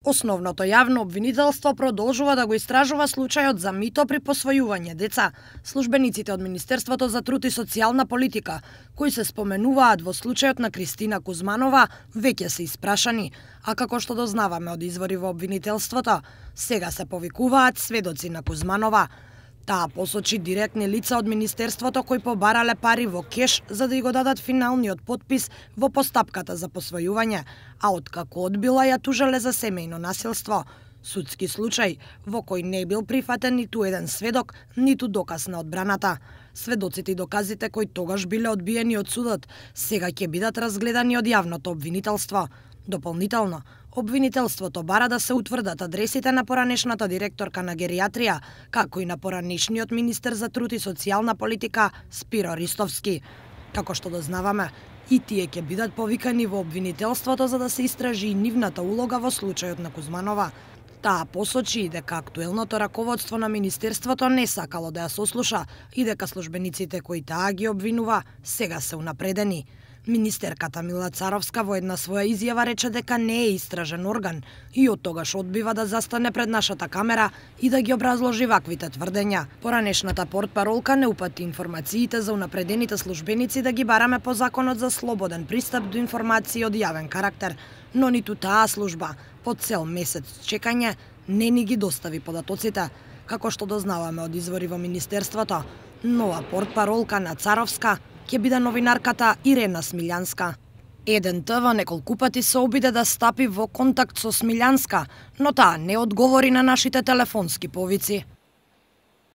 Основното јавно обвинителство продолжува да го истражува случајот за мито при посвојување деца. Службениците од Министерството за труд и социјална политика, кои се споменуваат во случајот на Кристина Кузманова, веќе се испрашани, а како што дознаваме од извори во обвинителството, сега се повикуваат сведоци на Кузманова. Таа посочи директни лица од Министерството кои побарале пари во кеш за да ја го дадат финалниот потпис во постапката за посвојување, а откако одбила ја тужале за семејно насилство. Судски случај во кој не бил прифатен ниту еден сведок, ниту доказ на одбраната. Сведоците и доказите кои тогаш биле одбиени од судот, сега ќе бидат разгледани од јавното обвинителство. Дополнително, обвинителството бара да се утврдат адресите на поранешната директорка на геријатрија, како и на поранешниот министер за труд и социјална политика Спиро Ристовски. Како што дознаваме, и тие ќе бидат повикани во обвинителството за да се истражи и нивната улога во случајот на Кузманова. Таа посочи дека актуелното раководство на Министерството не сакало да ја сослуша и дека службениците кои таа ги обвинува сега се унапредени. Министерката Мила Царовска во една своја изјава рече дека не е истражен орган и од тогаш одбива да застане пред нашата камера и да ги образложи ваквите тврдења. Поранешната портпаролка не упати информациите за унапредените службеници да ги бараме по Законот за слободен пристап до информации од јавен карактер, но ниту таа служба по цел месец чекање не ни ги достави податоците. Како што дознаваме од извори во Министерството, нова портпаролка на Царовска ќе биде новинарката Ирена Смилјанска. Еден ТВ неколку пати се обиде да стапи во контакт со Смилјанска, но таа не одговори на нашите телефонски повици.